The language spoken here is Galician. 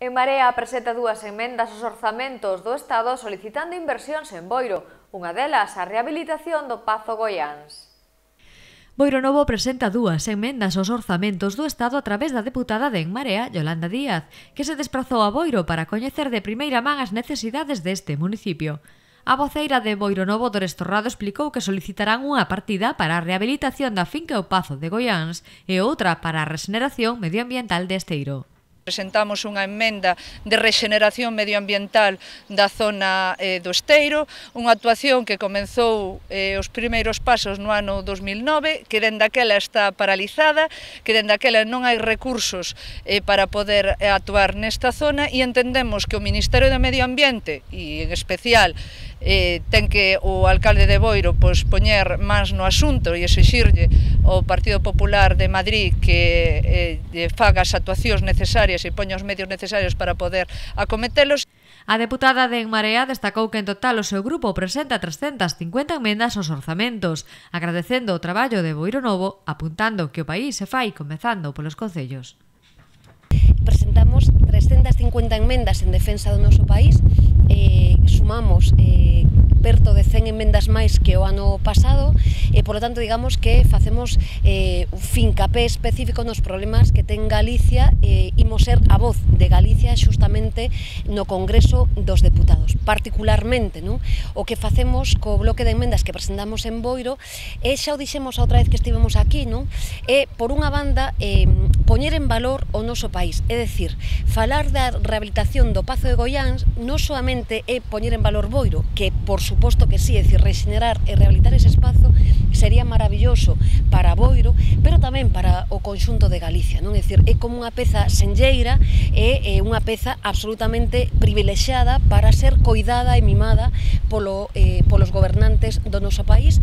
En Marea presenta dúas emendas aos orzamentos do Estado solicitando inversións en Boiro, unha delas a rehabilitación do Pazo Goiáns. Boiro Novo presenta dúas emendas aos orzamentos do Estado a través da deputada de En Marea, Yolanda Díaz, que se desprazou a Boiro para coñecer de primeira man as necesidades deste municipio. A voceira de Boiro Novo, Dores Torrado, explicou que solicitarán unha partida para a rehabilitación da finca O Pazo de Goiáns e outra para a rexeneración medioambiental de Esteiro. Presentamos unha emenda de rexeneración medioambiental da zona do Esteiro, unha actuación que comenzou os primeiros pasos no ano 2009, que dende aquela está paralizada, que dende aquela non hai recursos para poder actuar nesta zona e entendemos que o Ministerio de Medio Ambiente, e en especial ten que o alcalde de Boiro poñer mans no asunto e exixirlle ao Partido Popular de Madrid que faga as actuacións necesarias e poña os medios necesarios para poder acometelos. A deputada de En Marea destacou que en total o seu grupo presenta 350 emendas aos orzamentos, agradecendo o traballo de Boiro Novo, apuntando que o país se fai comezando polos concellos. Presentamos 350 enmendas en defensa do noso país, sumamos perto de 100 enmendas máis que o ano pasado e, polo tanto, digamos que facemos un fincapé específico nos problemas que ten Galicia e imos ser a voz de Galicia xustamente no Congreso dos Deputados. Particularmente, non? O que facemos co bloque de enmendas que presentamos en Boiro e xa o dixemos a outra vez que estivemos aquí, non? É, por unha banda, poñer en valor o noso país, é dicir, falar da rehabilitación do Pazo de Goiáns non soamente é poñer en valor Boiro, que por suposto que sí, é dicir, rexenerar e rehabilitar ese espazo sería maravilloso para Boiro, pero tamén para o conxunto de Galicia, non? É dicir, é como unha peza senlleira e unha peza absolutamente privilexiada para ser coidada e mimada polos gobernantes do noso país.